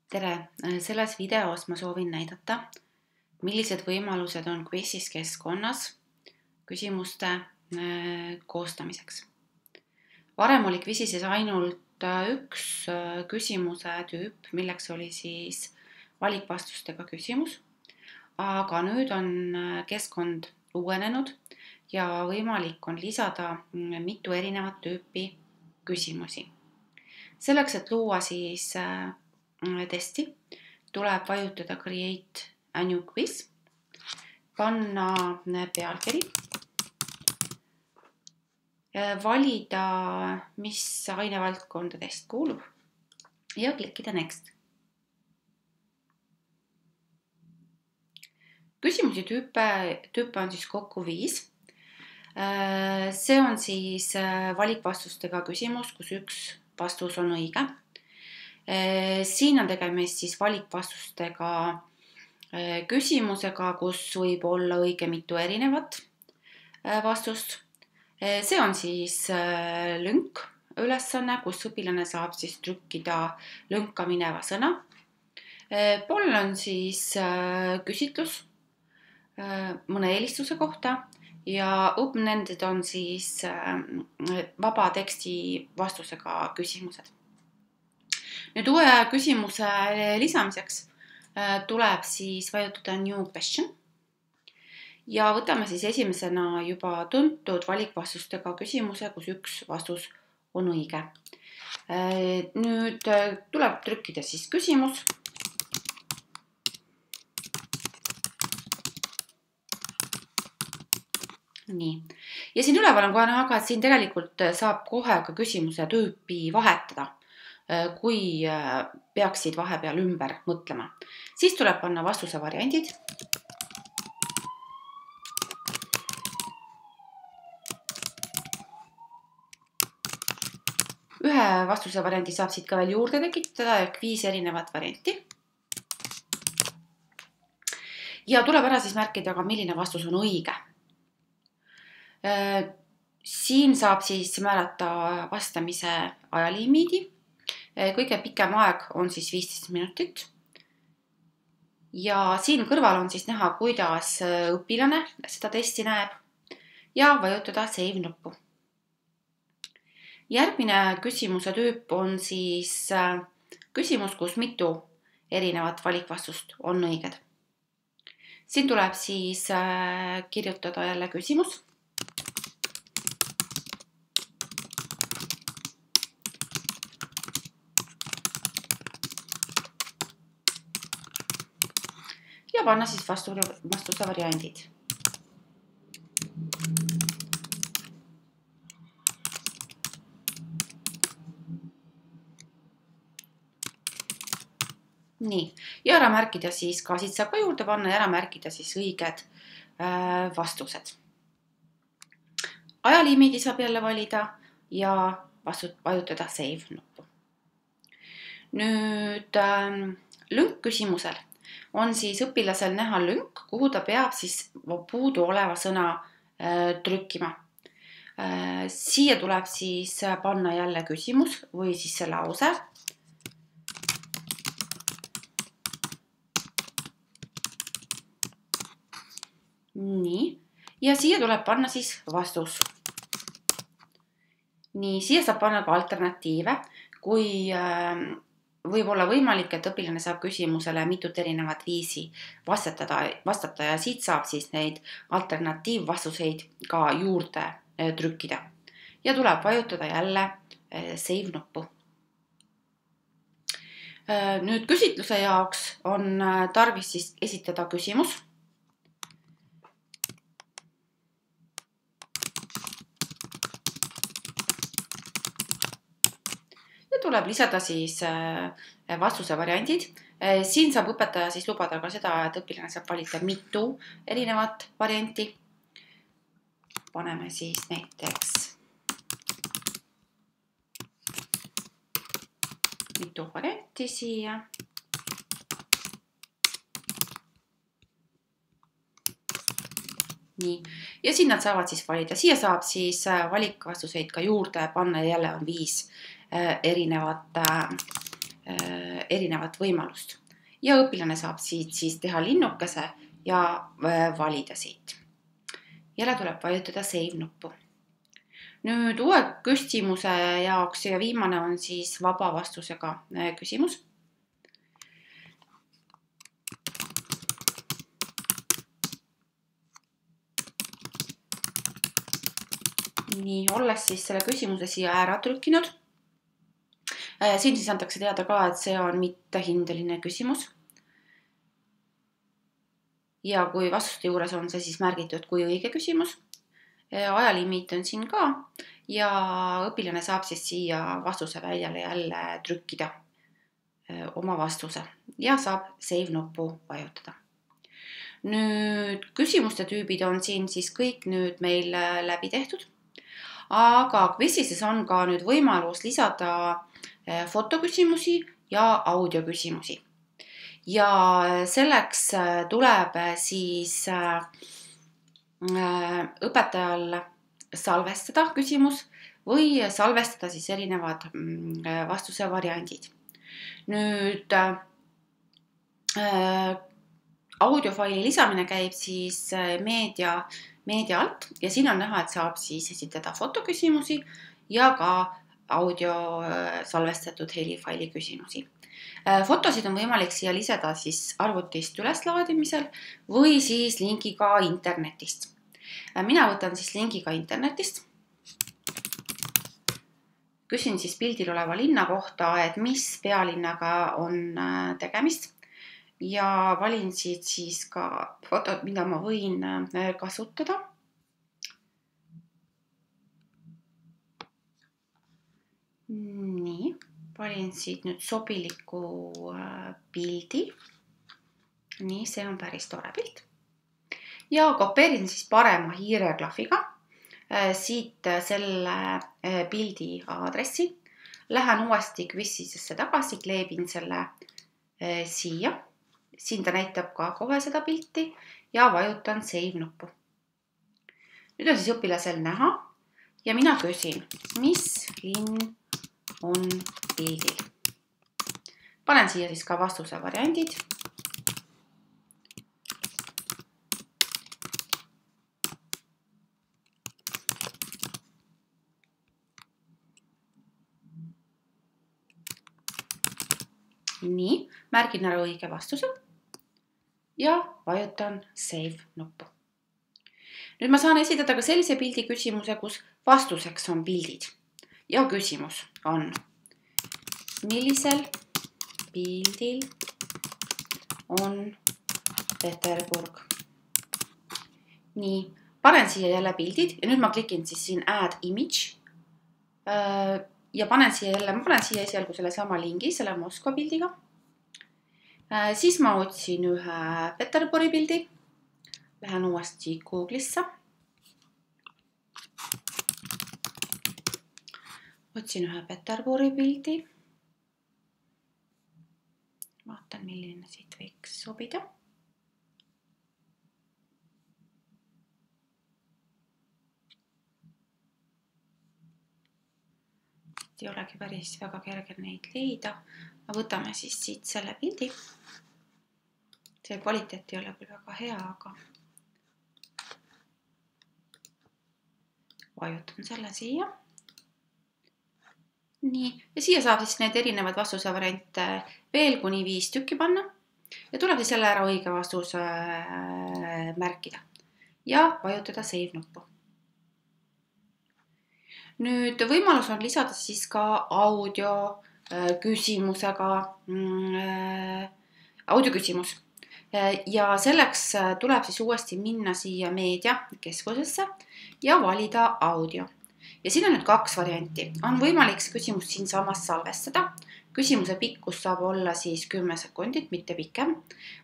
Tere! Selles videos ma soovin näidata, millised võimalused on Quizizz keskkonnas küsimuste koostamiseks. Varem oli Quizizzis ainult üks küsimuse tüüp, milleks oli siis valikvastustega küsimus, aga nüüd on keskkond uuenenud ja võimalik on lisada mitu erinevat tüüpi küsimusi. Selleks, et luua siis testi, tuleb vajutada Create a new quiz, panna pealkiri, valida, mis ainevaldkonda test kuulub ja klikkida Next. Küsimusi tüüpe on siis kokku 5. See on siis valikvastustega küsimus, kus üks vastus on õige. Siin on tegemist siis valikvastustega küsimusega, kus võib olla õige mitu erinevat vastust. See on siis lünk ülesanne, kus õpilane saab siis trükkida lünka mineva sõna. Pool on siis küsitlus mõne eelistuse kohta ja open-ended on siis vaba teksti vastusega küsimused. Nüüd uue küsimuse lisamiseks tuleb siis vajutada New Question ja võtame siis esimesena juba tuntud valikvastustega küsimuse, kus üks vastus on õige. Nüüd tuleb trükkida siis küsimus. Nii. Ja siin üleval on kohe näha, et siin tegelikult saab kohe ka küsimuse tüüpi vahetada, kui peaksid vahepeal ümber mõtlema. Siis tuleb panna vastuse variandid. Ühe vastuse variandi saab siit ka veel juurde tekitada, ehk 5 erinevat varianti. Ja tuleb ära siis märkida ka, milline vastus on õige. Siin saab siis määrata vastamise ajalimiidi. Kõige pikem aeg on siis 15 minutit. Ja siin kõrval on siis näha, kuidas õpilane seda testi näeb ja vajutada Save nuppu. Järgmine küsimuse tüüp on siis küsimus, kus mitu erinevat valikvastust on õiged. Siin tuleb siis kirjutada jälle küsimus. Ja panna siis vastuse variandid. Nii, ja ära märkida siis ka, siit saab ka juurde panna ja ära märkida siis õiged vastused. Ajalimiidi saab jälle valida ja vajutada Save nuppu. Nüüd lünk küsimusel on siis õpilasel näha lünk, kuhu ta peab siis puudu oleva sõna trükkima. Siia tuleb siis panna jälle küsimus või siis see lause. Nii, ja siia tuleb panna siis vastus. Nii, siia saab panna ka alternatiive, kui võib olla võimalik, et õpilane saab küsimusele mitut erinevat viisi vastata ja siit saab siis neid alternatiivvastuseid ka juurde trükkida. Ja tuleb vajutada jälle Save nuppu. Nüüd küsitluse jaoks on tarvis siis esitada küsimus. Tuleb lisada siis vastuse variandid. Siin saab õpetaja siis lubada ka seda, et õpilane saab valida mitu erinevat varianti. Paneme siis näiteks mitu varianti siia. Nii, ja siin nad saavad siis valida. Siia saab siis valikvastuseid ka juurde panna ja jälle on 5 erinevat erinevat võimalust. Ja õpilane saab siit siis teha linnukese ja valida siit. Jälle tuleb vajutada Save nuppu. Nüüd uue küsimuse jaoks ja viimane on siis vaba vastusega küsimus. Nii, olles siis selle küsimuse siia ära trükkinud. Siin siis antakse teada ka, et see on mittehindeline küsimus. Ja kui vastuste juures on see siis märgitud kui õige küsimus. Ajalimiit on siin ka ja õpilane saab siis siia vastuse väljale jälle trükkida oma vastuse ja saab Save nuppu vajutada. Nüüd küsimuste tüübid on siin siis kõik nüüd meil läbi tehtud. Aga Quizises on ka nüüd võimalus lisada fotoküsimusi ja audioküsimusi. Ja selleks tuleb siis õpetajal salvestada küsimus või salvestada siis erinevad vastuse variandid. Nüüd audiofaili lisamine käib siis meedia alt ja siin on näha, et saab siis esitada fotoküsimusi ja ka audio salvestatud helifaili küsimusi. Fotosid on võimalik siia lisada siis arvutist üleslaadimisel või siis linkiga internetist. Mina võtan siis linkiga internetist. Küsin siis pildil oleva linna kohta, et mis pealinnaga on tegemist. Ja valin siit siis ka fotod, mida ma võin kasutada. Nii, valin siit nüüd sobiliku pildi. Nii, see on päris tore pilt. Ja kopeerin siis parema hiireklahviga siit selle pildi aadressi. Lähen uuesti Quizisesse tagasi, kleebin selle siia. Siin ta näitab ka kohe seda pilti ja vajutan Save nuppu. Nüüd on siis õpilasel näha ja mina küsin, mis linn on pildil. Panen siia siis ka vastuse variandid. Nii, märgin ära õige vastuse ja vajutan Save nuppu. Nüüd ma saan esitada ka sellise pildi küsimuse, kus vastuseks on pildid. Ja küsimus on, millisel pildil on Peterburg? Nii, panen siia jälle pildid ja nüüd ma klikin siis siin Add Image ja panen siia esialgu selle sama lingi, selle Moskva pildiga. Siis ma otsin ühe Peterburi pildi. Lähen uuesti Google'isse. Otsin ühe Peterburi pildi. Vaatan, milline siit võiks sobida. Ei olegi päris väga kerge neid leida. Võtame siis siit selle pildi. See kvaliteet ei ole küll väga hea, aga vajutan selle siia. Nii, ja siia saab siis need erinevad vastuse variante veel kuni 5 tükki panna ja tuleb siis jälle ära õige vastuse märkida ja vajutada Save nuppu. Nüüd võimalus on lisada siis ka audioküsimus. Ja selleks tuleb siis uuesti minna siia meediakeskusesse ja valida audio. Ja siin on nüüd 2 varianti. On võimalik see küsimus siin samas salvestada. Küsimuse pikkus saab olla siis 10 sekundit, mitte pikem.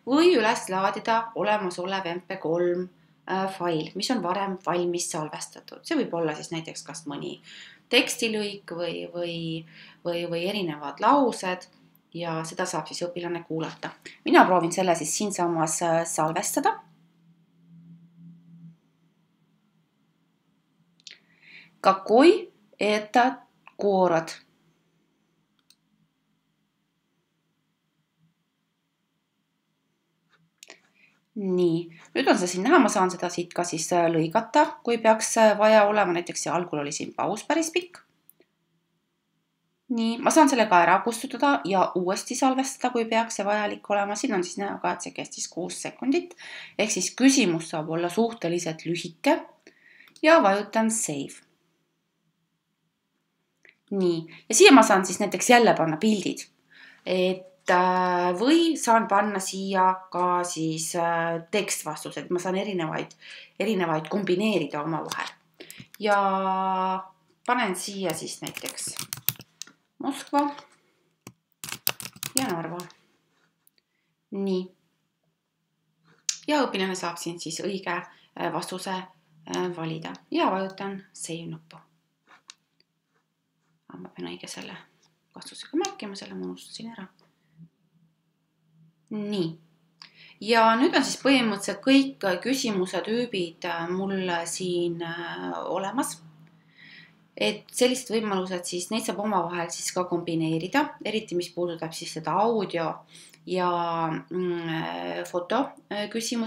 Või üles laadida olemasolev MP3 fail, mis on varem valmis salvestatud. See võib olla siis näiteks kas mõni tekstilõik või erinevad laused ja seda saab siis õpilane kuulata. Mina proovin selle siis siinsamas salvestada. Какой это город? nii, nüüd on see siin näha, ma saan seda siit ka siis lõigata, kui peaks vaja olema, näiteks see algul oli siin paus päris pikk. Nii, ma saan selle ka ära kustutada ja uuesti salvestada, kui peaks see vajalik olema. Siin on siis näha ka, et see kestis 6 sekundit. Ehk siis küsimus saab olla suhteliselt lühike ja vajutan save. Nii, ja siia ma saan siis näiteks jälle panna pildid. Või saan panna siia ka siis tekstvastused. Ma saan erinevaid kombineerida omavahel. Ja panen siia siis näiteks Moskva ja Narva. Nii. Ja õpilane saab siin siis õige vastuse valida ja vajutan save nuppu. Ma pean õige selle vastusega märkima, selle ma unustasin ära. Nii. Ja nüüd on siis põhimõtteliselt kõik küsimuse tüübid mul siin olemas. Et sellised võimalused siis, neid saab omavahel siis ka kombineerida, eriti mis puudutab siis seda audio ja foto küsimusi.